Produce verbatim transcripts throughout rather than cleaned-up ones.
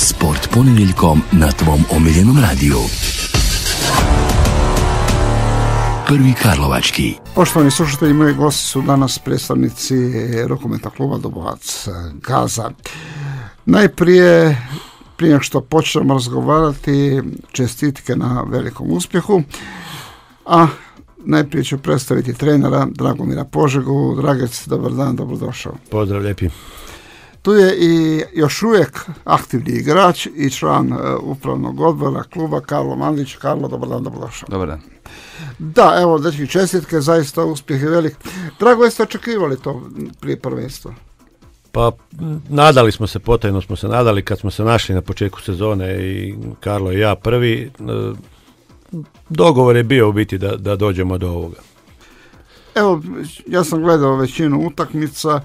Sport ponedjeljkom na tvom omiljenom radiju. Prvi Karlovački. Poštovani slušatelji, moji gosti su danas predstavnici rukometnog kluba Dobovac Gaza. Najprije, prije nego što počnemo razgovarati, čestitke na velikom uspjehu, a najprije ću predstaviti trenera Dragomira Požegu. Dragec, dobar dan, dobrodošao. Pozdrav, lijepi. Tu je i još uvijek aktivni igrač i član uh, upravnog odbora kluba Karlo Mandić. Karlo, dobar dan, dobrodošao. Dobar dan. Da, evo, dečki, čestitke, zaista uspjeh je velik. Drago, jeste očekivali to prije prvenstva? Pa, nadali smo se, potajno smo se nadali kad smo se našli na početku sezone i Karlo i ja prvi. Dogovor je bio u biti da, da dođemo do ovoga. Evo, ja sam gledao većinu utakmica,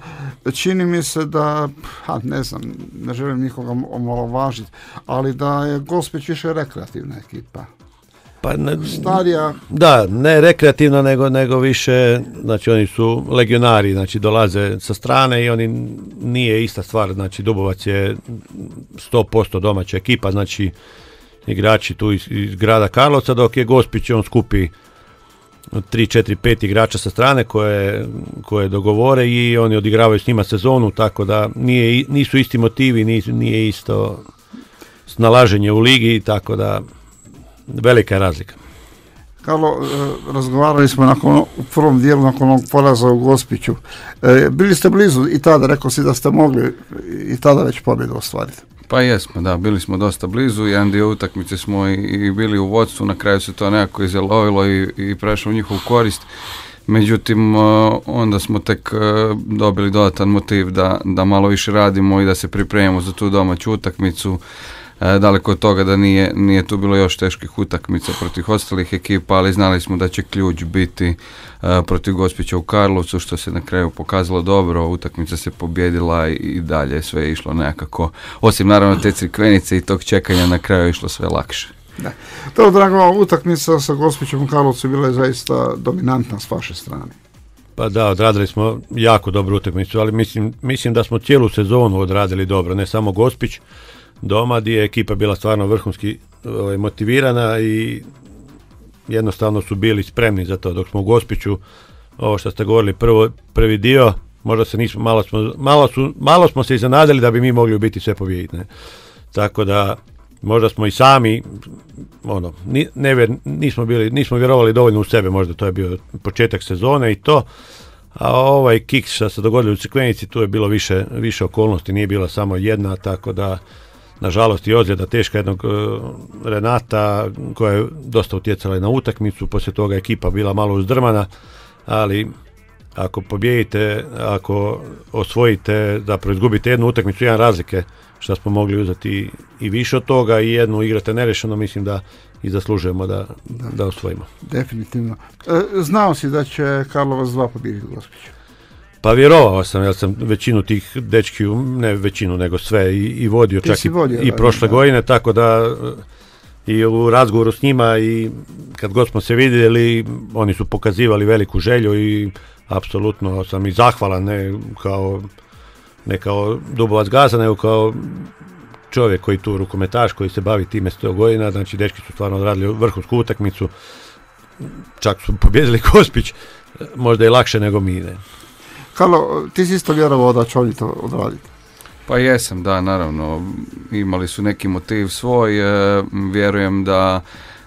čini mi se da, ha, ne znam, ne želim nikoga omalovažiti, ali da je Gospić više rekreativna ekipa. Pa ne, Starija. Da, ne rekreativno, nego, nego više, znači oni su legionari, znači dolaze sa strane i oni nije ista stvar, znači Dubovac je sto posto domaća ekipa, znači igrači tu iz, iz grada Karlovca, dok je Gospić, on skupi tri, četiri, pet igrača sa strane koje, koje dogovore i oni odigravaju s njima sezonu, tako da nije, nisu isti motivi, nije, nije isto snalaženje u ligi, tako da velika je razlika. Karlo, razgovarali smo nakon, u prvom dijelu nakon onog poraza u Gospiću. E, bili ste blizu i tada, rekao si da ste mogli i tada već pobjedu ostvariti. Pa jesmo, da, bili smo dosta blizu, jedan dio utakmice smo i, i bili u vodstvu, na kraju se to nekako izjelovilo i, i prešlo u njihovu korist. Međutim, onda smo tek dobili dodatan motiv da, da malo više radimo i da se pripremimo za tu domaću utakmicu. Daleko od toga da nije, nije tu bilo još teških utakmica protiv ostalih ekipa, ali znali smo da će ključ biti uh, protiv Gospića u Karlovcu, što se na kraju pokazalo dobro, utakmica se pobjedila i, i dalje sve je išlo nekako, osim naravno te crikvenice i tog čekanja, na kraju je išlo sve lakše. Da. To, drago, utakmica sa Gospićem u Karlovcu bila je zaista dominantna s vaše strane. Pa da, odradili smo jako dobru utakmicu, ali mislim, mislim da smo cijelu sezonu odradili dobro, ne samo Gospić doma, gdje je ekipa bila stvarno vrhunski ovaj, motivirana i jednostavno su bili spremni za to, dok smo u Gospiću, ovo što ste govorili, prvo, prvi dio, možda se nismo, malo smo, malo su, malo smo se iznenadili da bi mi mogli biti sve pobijediti, ne? Tako da možda smo i sami, ono, ni, ne, nismo bili, nismo vjerovali dovoljno u sebe, možda to je bio početak sezone i to, a ovaj kiks što se dogodilo u Crikvenici, tu je bilo više, više okolnosti, nije bila samo jedna, tako da nažalost i ozljeda teška jednog uh, Renata koja je dosta utjecala i na utakmicu, poslije toga ekipa bila malo uzdrmana, ali ako pobijedite, ako osvojite, zapravo izgubite jednu utakmicu, jedan razlike, što smo mogli uzeti i više od toga i jednu igrate nerešeno, mislim da i zaslužujemo da, da. da osvojimo. Definitivno. E, znao si da će Karlovac dva pobijediti Gospiću? Pa vjerovao sam, jer sam većinu tih dečki, ne većinu, nego sve i, i vodio, Ti čak i, vodio, i da, prošle da. godine, tako da i u razgovoru s njima i kad god smo se vidjeli, oni su pokazivali veliku želju i apsolutno sam i zahvalan, ne kao, ne kao Dubovac Gaza, nego kao čovjek koji tu rukometaš, koji se bavi time sto godina, znači dečki su stvarno odradili vrhunsku utakmicu, čak su pobjedili Gospić, možda i lakše nego mi, ne. Karlo, ti si isto vjerovao da će oni to odraditi? Pa jesam, da, naravno, imali su neki motiv svoj, e, vjerujem da,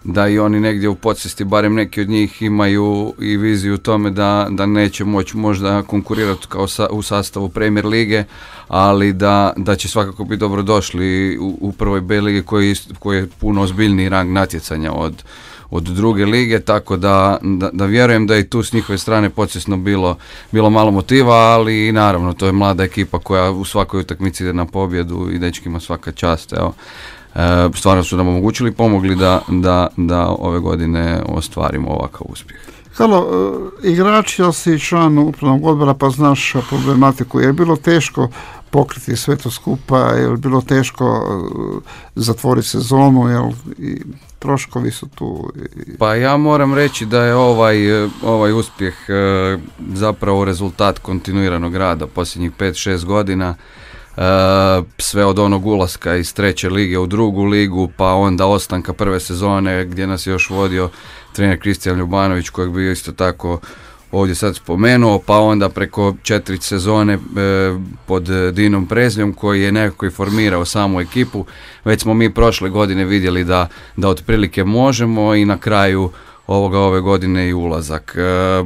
da i oni negdje u podsvijesti, barem neki od njih imaju i viziju u tome da, da neće moći možda konkurirati kao sa, u sastavu Premier lige, ali da, da će svakako biti dobrodošli u, u prvoj B ligi koji, koji je puno ozbiljniji rang natjecanja od od druge lige, tako da, da, da vjerujem da je i tu s njihove strane podsvjesno bilo, bilo malo motiva, ali naravno to je mlada ekipa koja u svakoj utakmici ide na pobjedu i dečkima svaka čast. Evo, e, stvarno su nam omogućili i pomogli da, da, da ove godine ostvarimo ovakav uspjeh. Karlo, igrač, jel si član upravnog odbora pa znaš problematiku, je bilo teško pokriti sve to skupa, je bilo teško zatvoriti sezonu, jel i troškovi su tu? Pa ja moram reći da je ovaj, ovaj uspjeh e, zapravo rezultat kontinuiranog rada posljednjih pet šest godina. sve od onog ulaska iz treće lige u drugu ligu, pa onda ostanka prve sezone gdje nas je još vodio trener Kristijan Ljubanović, kojeg bi isto tako ovdje sad spomenuo, pa onda preko četiri sezone e, pod Dinom Prezljom koji je nekako i formirao samu ekipu. Već smo mi prošle godine vidjeli da, da otprilike možemo i na kraju ovoga ove godine i ulazak. E,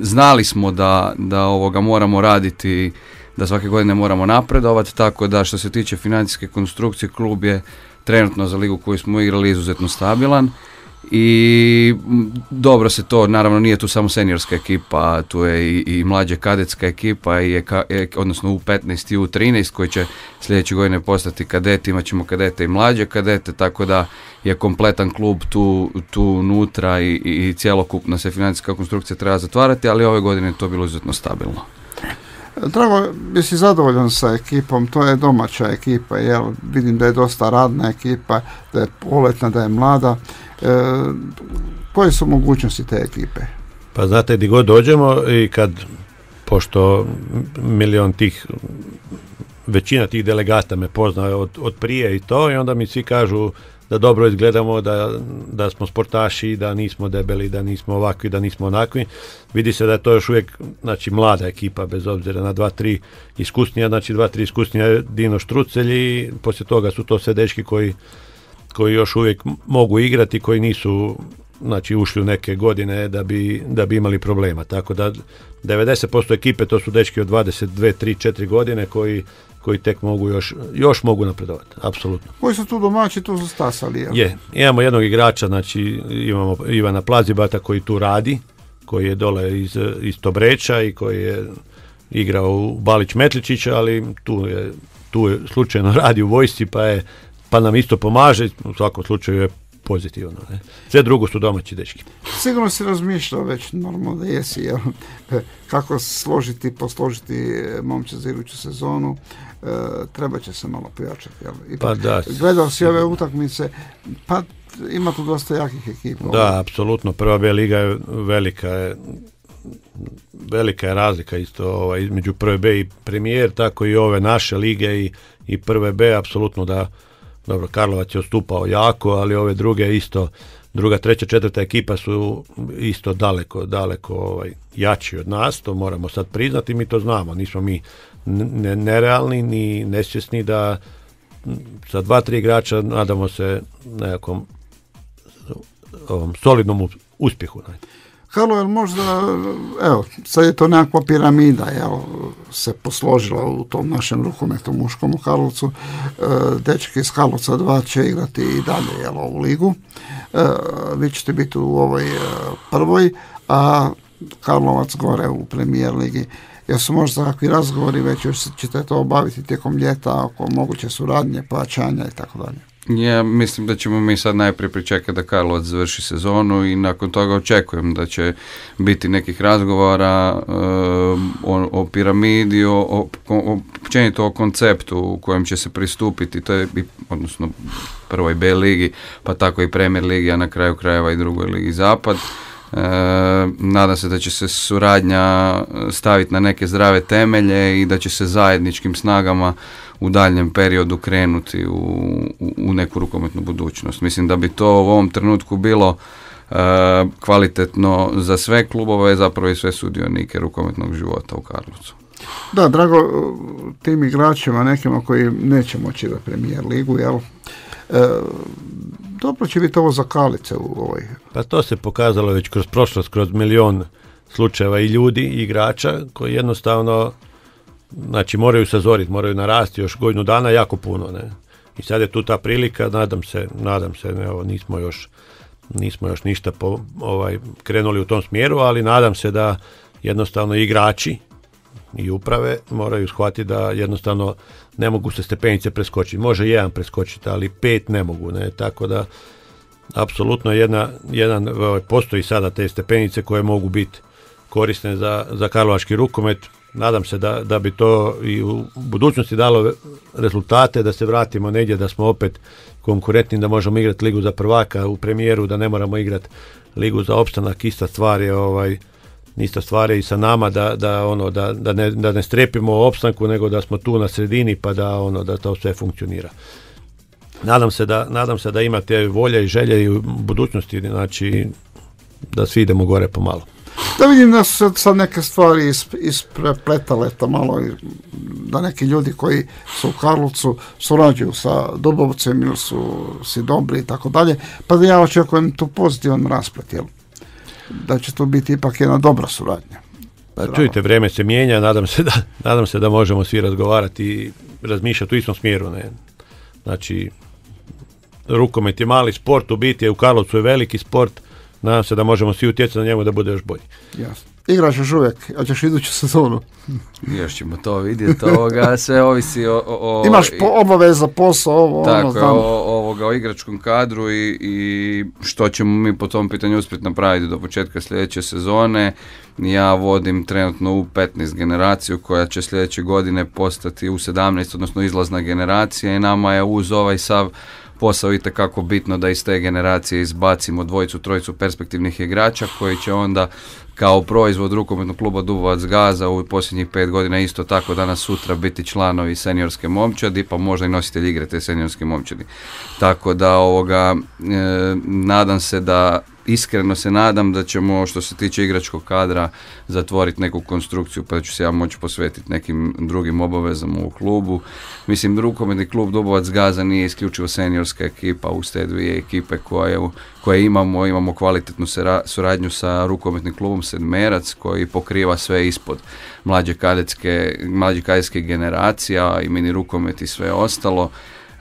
znali smo da, da ovoga moramo raditi, da svake godine moramo napredovati, tako da što se tiče financijske konstrukcije, klub je trenutno za ligu koju smo igrali izuzetno stabilan. I dobro se to, naravno nije tu samo seniorska ekipa, tu je i, i mlađa kadetska ekipa, i je, odnosno U petnaest i U trinaest koji će sljedeće godine postati kadeti, imat ćemo kadete i mlađe kadete, tako da je kompletan klub tu, tu unutra i, i, i cjelokupna se financijska konstrukcija treba zatvarati, ali ove godine je to bilo izuzetno stabilno. Drago, jesi zadovoljan sa ekipom, to je domaća ekipa, jel? Vidim da je dosta radna ekipa, da je poletna, da je mlada. E, koje su mogućnosti te ekipe? Pa znate, gdje god dođemo i kad, pošto milion tih, većina tih delegata me pozna od, od prije i to, i onda mi svi kažu da dobro izgledamo, da, da smo sportaši, da nismo debeli, da nismo ovakvi, da nismo onakvi. Vidi se da je to još uvijek, znači, mlada ekipa, bez obzira na dva, tri iskusnija, znači dva, tri iskusnija Dino Štrucelj, i poslije toga su to sve dečki koji, koji još uvijek mogu igrati, koji nisu, znači, ušli u neke godine da bi, da bi imali problema. Tako da devedeset posto ekipe to su dečki od dvadeset dvije, tri, četiri godine koji koji tek mogu još, još mogu napredovati, apsolutno. Koji su tu domaći, tu su stasali, jel? Je, imamo jednog igrača, znači imamo Ivana Plazibata koji tu radi, koji je dole iz, iz Tobreča i koji je igrao u Balić Metličića, ali tu je, tu je slučajno radi u vojsci, pa je, pa nam isto pomaže, u svakom slučaju je pozitivno. Ne? Sve drugo su domaći dečki. Sigurno si razmišljao već, normalno da jesi, jel? Kako složiti, posložiti momče za iduću sezonu, e, treba će se malo pojačati. Jel? Pa da. Gledao si ove utakmice, pa ima tu dosta jakih ekipa. Da, apsolutno. Prva B liga je velika, je, velika je razlika isto ovaj, između prve B i premijer, tako i ove naše lige i, i prve B, apsolutno da. Dobro, Karlovac je odstupao jako, ali ove druge isto, druga, treća, četvrta ekipa su isto daleko, daleko ovaj, jači od nas, to moramo sad priznati, mi to znamo, nismo mi ne, nerealni ni nesvjesni da sa dva, tri igrača nadamo se nekakvom ovom solidnom uspjehu. Ne. Halo, jel možda, evo, sad je to nekakva piramida, jel, se posložila u tom našem rukometu muškom u Karlovcu, e, dečki iz Karlovca dva će igrati i dalje, jel, ovu ligu, e, vi ćete biti u ovoj e, prvoj, a Karlovac gore u premijer ligi. Jesu možda takvi razgovori, već još ćete to obaviti tijekom ljeta oko moguće suradnje, plaćanja i tako dalje? Ja mislim da ćemo mi sad najprije pričekati da Karlovac završi sezonu i nakon toga očekujem da će biti nekih razgovora uh, o, o piramidi, o, o, o, općenito o konceptu u kojem će se pristupiti, to je, odnosno prvoj B ligi, pa tako i Premier ligi, a na kraju krajeva i drugoj ligi Zapad. E, nadam se da će se suradnja staviti na neke zdrave temelje i da će se zajedničkim snagama u daljnjem periodu krenuti u, u, u neku rukometnu budućnost. Mislim da bi to u ovom trenutku bilo e, kvalitetno za sve klubove, zapravo i sve sudionike rukometnog života u Karlovcu. Da, drago tim igračima, nekima koji neće moći da premijer ligu, jel? E, dobro će biti ovo za Kalice u ovoj. Pa to se pokazalo već kroz prošlost, kroz milion slučajeva i ljudi i igrača koji jednostavno, znači, moraju sazoriti, moraju narasti još godinu dana jako puno, ne. I sad je tu ta prilika, nadam se, nadam se, ne, ovo, nismo još nismo još ništa po, ovaj, krenuli u tom smjeru, ali nadam se da jednostavno igrači i uprave moraju shvatiti da jednostavno ne mogu se stepenice preskočiti. Može jedan preskočiti, ali pet ne mogu, ne, tako da apsolutno jedna, jedan, ovaj, postoji sada te stepenice koje mogu biti korisne za, za karlovački rukomet. Nadam se da, da bi to i u budućnosti dalo rezultate, da se vratimo negdje, da smo opet konkurentni, da možemo igrati ligu za prvaka u premijeru, da ne moramo igrati ligu za opstanak. Ista stvar je ovaj, ista stvar je i sa nama da, da, ono, da, da, ne, da ne strepimo o opstanku, nego da smo tu na sredini pa da, ono, da to sve funkcionira. Nadam se da, nadam se da imate volje i želje i u budućnosti, znači da svi idemo gore pomalo. Da vidim da su sad neke stvari isprepletale to malo, da neki ljudi koji su u Karlovcu surađuju sa Dubovcem ili su si dobri i tako dalje, pa da ja očekujem tu pozitivan rasplet, jel? Da će to biti ipak jedna dobra suradnja. Pa čujte, vrijeme se mijenja, nadam se da, nadam se da možemo svi razgovarati i razmišljati u istom smjeru, ne? Znači, rukomet je mali sport, u biti je u Karlovcu je veliki sport, nadam se da možemo svi utjecati na njemu da bude još bolji. Jasno. Igraš još uvijek, a ćeš iduću sezonu. Još ćemo to vidjeti, ovoga, sve ovisi o... o Imaš po obaveza, posao, ovo, tako, ono, znam. O, ovoga, o igračkom kadru i, i što ćemo mi po tom pitanju uspjeti napraviti do početka sljedeće sezone. Ja vodim trenutno u petnaest generaciju koja će sljedeće godine postati u sedamnaest, odnosno izlazna generacija, i nama je uz ovaj sav posao itekako bitno da iz te generacije izbacimo dvojicu, trojicu perspektivnih igrača koji će onda kao proizvod rukometnog kluba Dubovac Gaza u posljednjih pet godina isto tako danas sutra biti članovi seniorske momčadi, pa možda i nositelji igre te seniorske momčadi. Tako da ovoga, e, nadam se da iskreno se nadam da ćemo, što se tiče igračkog kadra, zatvoriti neku konstrukciju, pa da ću se ja moći posvetiti nekim drugim obavezama u klubu. Mislim, rukometni klub Dubovac Gaza nije isključivo seniorska ekipa, uz te dvije ekipe koje, koje imamo, imamo kvalitetnu sera, suradnju sa rukometnim klubom Sedmerac, koji pokriva sve ispod mlađe kadetske, mlađe kadetske generacija i mini rukomet i sve ostalo.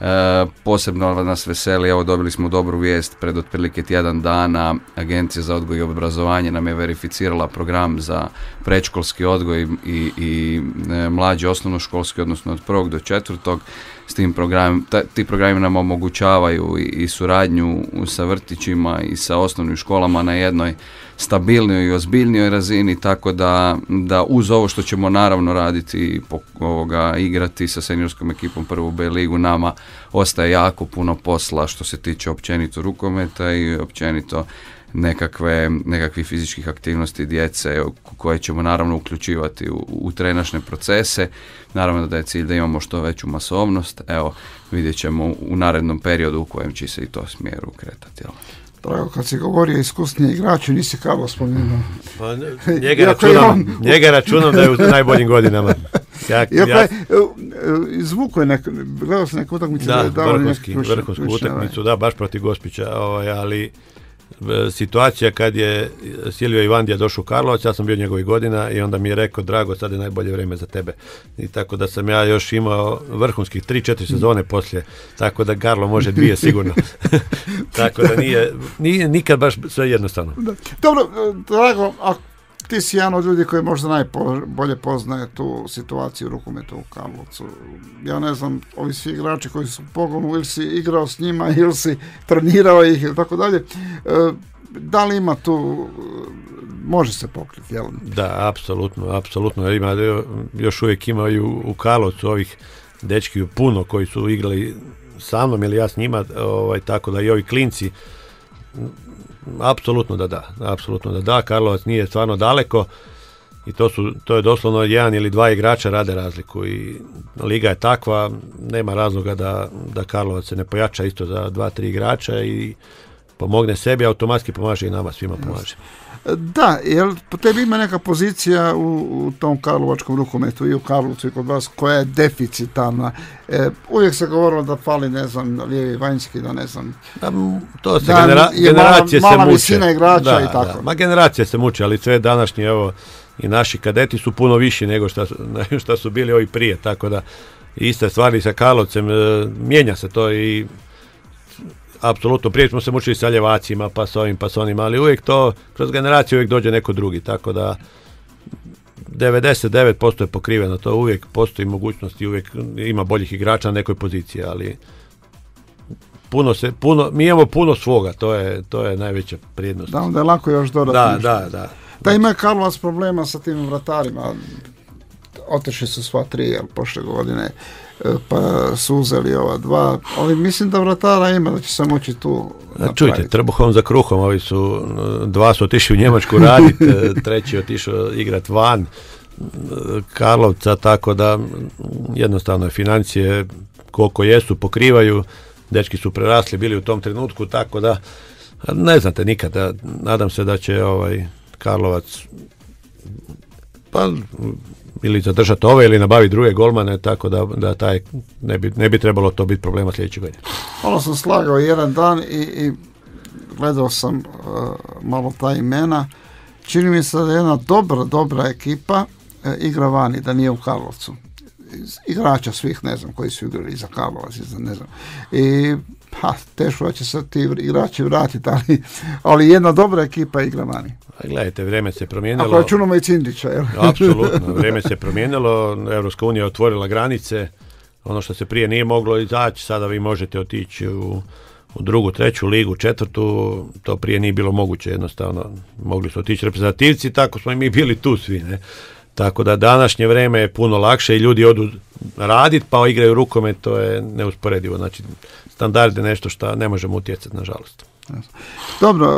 E, posebno nas veseli, evo dobili smo dobru vijest pred otprilike tjedan dana, Agencija za odgoj i obrazovanje nam je verificirala program za predškolski odgoj i, i e, mlađi osnovnoškolski, odnosno od prvog do četvrtog. S tim program, ta, ti programi nam omogućavaju i, i suradnju sa vrtićima i sa osnovnim školama na jednoj stabilnijoj i ozbiljnijoj razini, tako da, da uz ovo što ćemo naravno raditi, po, ovoga, igrati sa seniorskom ekipom prvu B ligu, nama ostaje jako puno posla što se tiče općenito rukometa i općenito nekakve, nekakvih fizičkih aktivnosti djece koje ćemo naravno uključivati u, u trenažne procese. Naravno da je cilj da imamo što veću masovnost. Evo, vidjet ćemo u narednom periodu u kojem će se i to smjeru kretati. Jel? Drago, kad si govorio iskusniji igrači, nisi Karlo spomenuo. Pa, njega, računam, on... njega računam da je u najboljim godinama. Ja, ja... Izvuko je neko, gledao sam neku utakmicu. Da, da vrhunski, vrhunsku utakmicu, da, baš protiv Gospića, ovaj, ali situacija kad je Silvio Ivandija došao u Karlovac, ja sam bio njegovih godina i onda mi je rekao, Drago, sad je najbolje vrijeme za tebe. I tako da sam ja još imao vrhunskih tri četiri sezone poslije, tako da Karlo može dvije sigurno. Tako da nije, nije nikad baš sve jednostavno. Da. Dobro, Drago, a ti si jedan od ljudi koji možda najbolje poznaje tu situaciju u rukometu u Karlovcu. Ja ne znam, ovi svi igrači koji su u pogonu, ili si igrao s njima, ili si trenirao ih, ili tako dalje. Da li ima tu, može se pokriti, jel? Da, apsolutno, apsolutno. Ima, još uvijek imaju u Karlovcu ovih dečki puno koji su igrali sa mnom ili ja s njima, ovaj, tako da i ovi klinci. Apsolutno da da, apsolutno da da, Karlovac nije stvarno daleko i to su, to je doslovno jedan ili dva igrača rade razliku i liga je takva, nema razloga da, da Karlovac se ne pojača isto za dva, tri igrača i pomogne sebi, automatski pomaže i nama svima pomaže. Da, jer po tebi ima neka pozicija u, u tom karlovačkom rukometu i u Karlovcu i kod vas koja je deficitarna. E, uvijek se govorilo da fali, ne znam, lijevi vanjski, da ne znam. Da, to se genera, generacije mala, se mala muče. Visina igrača da, i tako. Da. Ma generacije se muče, ali sve današnji, evo, i naši kadeti su puno viši nego što su, što su bili ovi prije, tako da iste stvari sa Karlovcem, e, mijenja se to i apsolutno, prije smo se mučili sa ljevacima, pa s ovim, pa s onim, ali uvijek to, kroz generaciju uvijek dođe neko drugi, tako da devedeset devet posto je pokriveno, to uvijek postoji mogućnost i uvijek ima boljih igrača na nekoj poziciji, ali puno se, puno, mi imamo puno svoga, to je, to je najveća prijednost. Da, onda je lako još dodati. Da, da, da. Da, ima Karlovac problema sa tim vratarima, otišli su sva tri, jel, prošle godine. pa su uzeli ova dva, ali mislim da vratara ima, da će se moći tu napraviti. Čujte, trbuhom za kruhom, ovi su, dva su otišli u Njemačku raditi, treći otišao igrat van Karlovca, tako da jednostavno financije koliko jesu, pokrivaju, dečki su prerasli, bili u tom trenutku, tako da ne znate nikada, nadam se da će ovaj Karlovac pa ili zadržati ove ili nabaviti druge golmane, tako da, da taj ne bi, ne bi trebalo to biti problema sljedećeg godine. Ono sam slagao jedan dan i, i gledao sam uh, malo ta imena. Čini mi se da je jedna dobra, dobra ekipa uh, igra vani, da nije u Karlovcu. Igrača svih, ne znam, koji su igrali za Karlovac, za ne znam. I pa, teško da će se ti igrači vratiti, ali, ali jedna dobra ekipa igra vani. A gledajte, vrijeme se promijenilo. Ako računamo i Cindića, jel? Apsolutno, vrijeme se promijenilo, Europska unija otvorila granice, ono što se prije nije moglo izaći, sada vi možete otići u, u drugu, treću ligu, četvrtu, to prije nije bilo moguće, jednostavno mogli su otići reprezentativci, tako smo i mi bili tu svi, ne? Tako da današnje vrijeme je puno lakše i ljudi odu raditi pa igraju rukomet, to je neusporedivo. Znači, standard je nešto što ne možemo utjecati, nažalost. Dobro,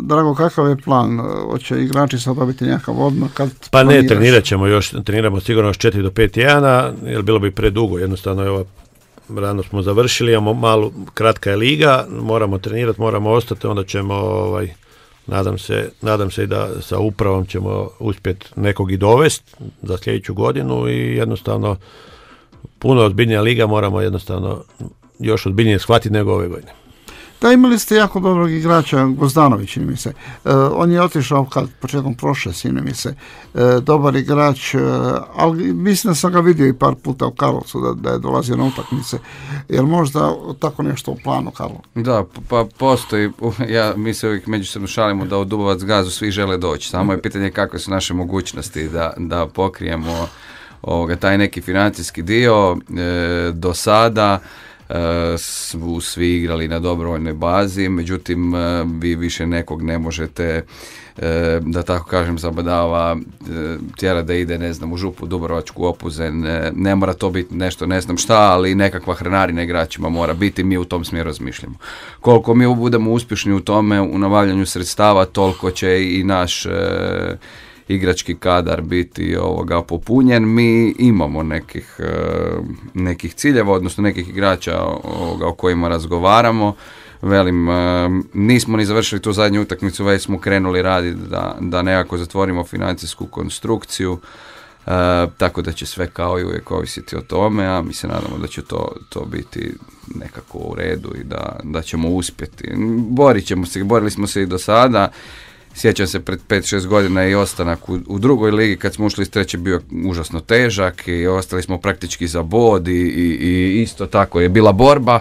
Drago, kakav je plan? Hoće igrači sad dobiti nekakav odmah? Kad pa ne, trenirat ćemo još, treniramo sigurno još četiri do pet tjedana, jer bilo bi predugo, jednostavno je ova, rano smo završili, imamo malo, kratka je liga, moramo trenirati, moramo ostati, onda ćemo ovaj, Nadam se, nadam se i da sa upravom ćemo uspjeti nekog i dovesti za sljedeću godinu i jednostavno puno ozbiljnija liga, moramo jednostavno još ozbiljnije shvatiti nego ove godine. Da, imali ste jako dobrog igrača, Gozdanović, čini mi se. E, on je otišao kad početkom prošle, čini mi se. E, dobar igrač, e, ali mislim da sam ga vidio i par puta u Karlovcu da, da je dolazio na utakmice. Jer možda tako nešto u planu, Karlo? Da, pa postoji, ja, mi se uvijek međusobno šalimo da u Dubovac gazu svi žele doći. Samo je pitanje kakve su naše mogućnosti da, da pokrijemo ovoga, taj neki financijski dio. E, do sada su svi igrali na dobrovoljnoj bazi, međutim vi više nekog ne možete, da tako kažem, zabadava tjera da ide, ne znam, u Župu, Dubrovačku, Opuzen, ne mora to biti nešto, ne znam šta, ali nekakva hranarina igračima mora biti, mi u tom smjeru razmišljamo. Koliko mi budemo uspješni u tome, u nabavljanju sredstava, toliko će i naš igrački kadar biti ovoga popunjen. Mi imamo nekih, nekih ciljeva, odnosno nekih igrača ovoga, o kojima razgovaramo. Velim, nismo ni završili tu zadnju utakmicu, već smo krenuli raditi da, da nekako zatvorimo financijsku konstrukciju, e, tako da će sve kao i uvijek ovisiti o tome, a mi se nadamo da će to, to biti nekako u redu i da, da ćemo uspjeti. Borit ćemo se, borili smo se i do sada. Sjećam se pred pet šest godina i ostanak u, u drugoj ligi kad smo ušli iz treće bio užasno težak i ostali smo praktički za bod i, i, i isto tako je bila borba,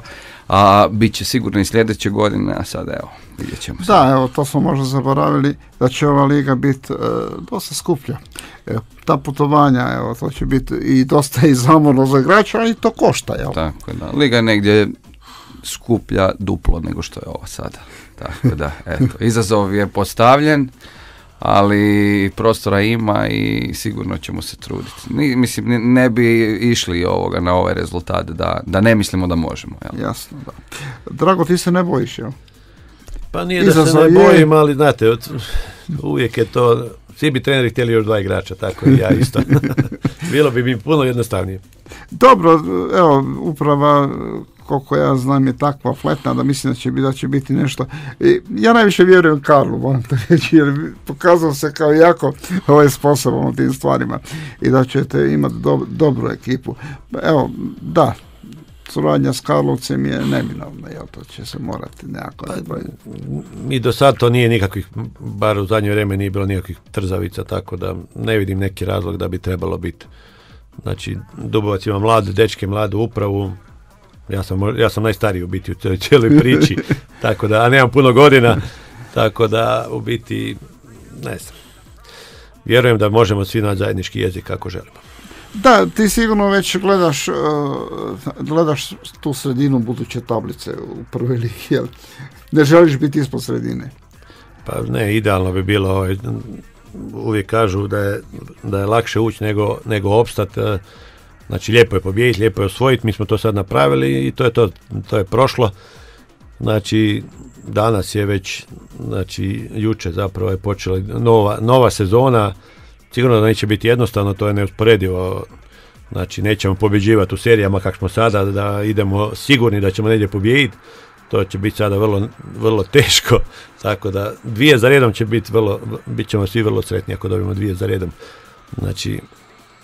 a bit će sigurno i sljedeće godine, a sada evo, vidjet ćemo se. Da, evo, to smo možda zaboravili da će ova liga biti e, dosta skuplja. E, ta putovanja, evo, to će biti i dosta i zamorno za igrača, ali to košta, jel? Tako da, liga je negdje skuplja duplo nego što je ovo sada. Tako da, eto, izazov je postavljen, ali prostora ima i sigurno ćemo se truditi. Ni, mislim, ne bi išli ovoga na ovaj rezultat da, da ne mislimo da možemo. Jel? Jasno, da. Drago, ti se ne bojiš, jel? Pa nije da se ne bojim, ali znate, uvijek je to, svi bi treneri htjeli još dva igrača, tako i ja isto. Bilo bi mi puno jednostavnije. Dobro, evo, uprava, koliko ja znam, je takva fletna da mislim da će, da će biti nešto. I ja najviše vjerujem Karlu, moram to reći, jer pokazao se kao jako ovaj sposoban u tim stvarima i da ćete imati do, dobru ekipu. Evo, da, suradnja s Karlovcem je neminovna, jel, to će se morati nekako napraviti. I do sad to nije nikakvih, bar u zadnje vrijeme nije bilo nikakvih trzavica, tako da ne vidim neki razlog da bi trebalo biti. Znači, Dubovac ima mlade dečke, mladu upravu, ja sam, ja sam najstariji u biti u cijeloj, cijeloj priči, tako da, a nemam puno godina, tako da u biti, ne znam, vjerujem da možemo svi naći zajednički jezik kako želimo. Da, ti sigurno već gledaš, uh, gledaš tu sredinu buduće tablice u prvoj ligi, jel? Ne želiš biti ispod sredine? Pa ne, idealno bi bilo, ovaj, uvijek kažu da je, da je lakše ući nego, nego opstati. Znači lijepo je pobijediti, lijepo je osvojiti, mi smo to sad napravili i to je to, to je prošlo. Znači danas je već, znači jučer zapravo je počela nova, nova sezona, sigurno da neće biti jednostavno, to je neusporedivo. Znači nećemo pobjeđivati u serijama kako smo sada, da idemo sigurni da ćemo negdje pobijediti, to će biti sada vrlo, vrlo teško, tako da dvije za redom će biti vrlo, bit ćemo svi vrlo sretni ako dobijemo dvije za redom, znači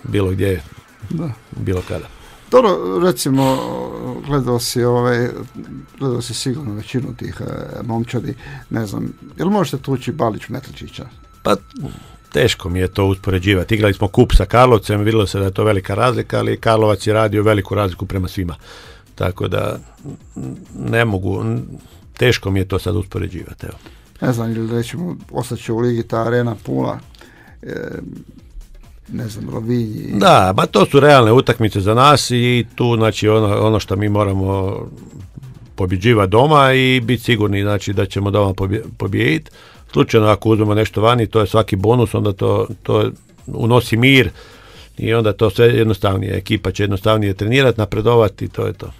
bilo gdje, da. Bilo kada. Dobro, recimo, gledao si, ovaj, gledao si sigurno većinu tih e, momčadi, ne znam, jel možete tući Balić Metličića? Pa teško mi je to uspoređivati. Igrali smo kup sa Karlovcem, vidjelo se da je to velika razlika, ali Karlovac je radio veliku razliku prema svima. Tako da ne mogu, teško mi je to sad uspoređivati. Evo. Ne znam, ili rećemo, ostaće u ligi ta arena puna, e, ne znam, Rovinji. Da, ba to su realne utakmice za nas i tu, znači, ono, ono što mi moramo pobjeđivati doma i biti sigurni, znači, da ćemo doma pobijediti. Slučajno ako uzmemo nešto vani, to je svaki bonus, onda to, to unosi mir i onda to sve jednostavnije. Ekipa će jednostavnije trenirati, napredovati i to je to.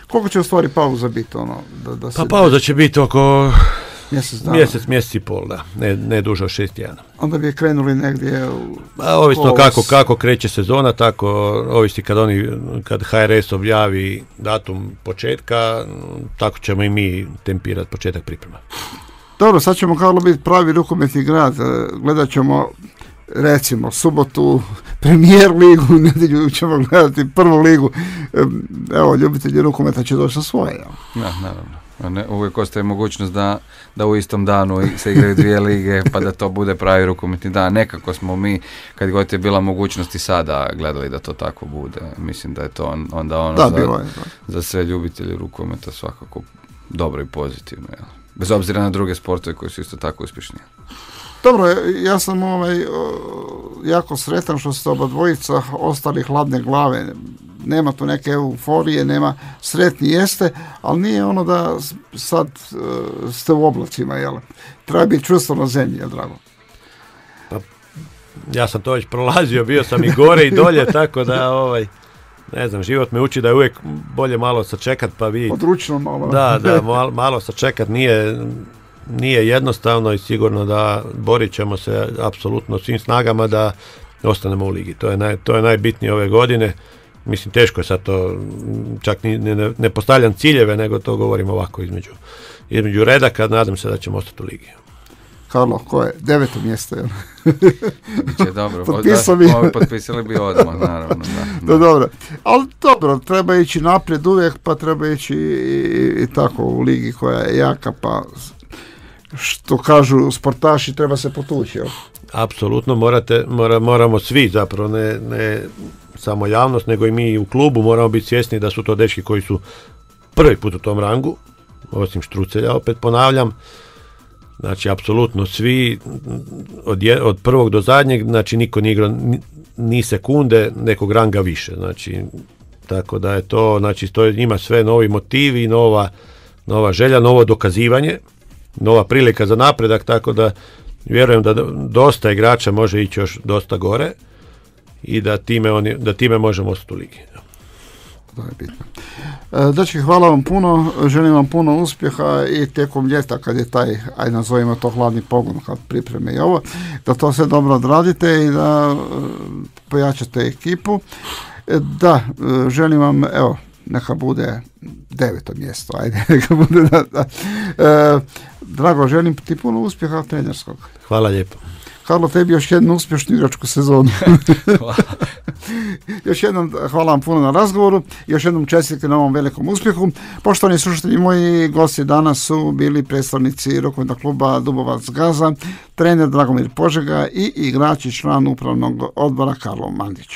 Koliko će u stvari pauza biti? Ono, da, da se... Pa pauza će biti oko mjesec, dana. mjesec, mjesec i pol, da. Ne, ne duže od šest tjedana. Onda bi krenuli negdje u... A, ovisno kako, kako kreće sezona, tako ovisi kad oni, kad H R S objavi datum početka, tako ćemo i mi tempirati početak priprema. Dobro, sad ćemo kao biti pravi rukometni grad, gledat ćemo recimo subotu premijer ligu, nedjelju ćemo gledati prvu ligu, evo ljubitelji rukometa će doći na svoje. Ja. Ja, naravno. Ne, uvijek ostaje mogućnost da, da u istom danu se igraju dvije lige pa da to bude pravi rukometni dan. Nekako smo mi, kad god je bila mogućnost i sada gledali da to tako bude. Mislim da je to on, onda ono da, za, bilo je, za sve ljubitelji rukometa svakako dobro i pozitivno. Jel? Bez obzira na druge sportove koji su isto tako uspješni. Dobro, ja sam ovaj, jako sretan što ste oba dvojica ostali hladne glave. Nema tu neke euforije, nema, sretni jeste, ali nije ono da sad uh, ste u oblacima, jel? Treba biti čvrsto na zemlji, jel, drago? Pa, ja sam to već prolazio, bio sam i gore i dolje, tako da, ovaj, ne znam, život me uči da je uvijek bolje malo sačekat, pa vi... Odručno malo. Da, da, malo, malo sačekat nije... Nije jednostavno i sigurno da borit ćemo se apsolutno svim snagama da ostanemo u ligi. To je, naj, to je najbitnije ove godine. Mislim, teško je sad to, čak ni, ne, ne postavljam ciljeve, nego to govorim ovako između, između redaka, nadam se da ćemo ostati u ligi. Karlo, ko je? Deveto mjesto, jel? Biće dobro. Potpisao bi. Ovo potpisali bi odmah, naravno. Da, da. Dobro, ali dobro, treba ići naprijed uvijek, pa treba ići i, i tako u ligi koja je jaka, pa... što kažu sportaši, treba se potući. Jel? Apsolutno, morate, mora, moramo svi zapravo, ne, ne samo javnost, nego i mi u klubu moramo biti svjesni da su to dečki koji su prvi put u tom rangu, osim Štrucelja, opet ponavljam, znači apsolutno svi, od, je, od prvog do zadnjeg, znači niko nije igrao ni, ni sekunde nekog ranga više, znači tako da je to, znači to ima sve novi motivi, nova, nova želja, novo dokazivanje, nova prilika za napredak, tako da vjerujem da dosta igrača može ići još dosta gore i da time, oni, da time možemo ostati u ligi. To je bitno. Dečki, hvala vam puno, želim vam puno uspjeha i tijekom ljeta kad je taj, aj nazovimo to hladni pogon, kad pripreme i ovo, da to sve dobro odradite i da pojačate ekipu. Da, želim vam, evo, neka bude deveto mjesto, ajde, neka bude da, da. E, Drago, želim ti puno uspjeha trenerskog. Hvala lijepo. Karlo, tebi još jednu uspješnu igračku sezonu. Hvala. Još jednom hvala vam puno na razgovoru, još jednom čestitke na ovom velikom uspjehu. Poštovani slušatelji moji, gosti danas su bili predstavnici rukometnog kluba Dubovac Gaza, trener Dragomir Požega i igrač i član upravnog odbora Karlo Mandić.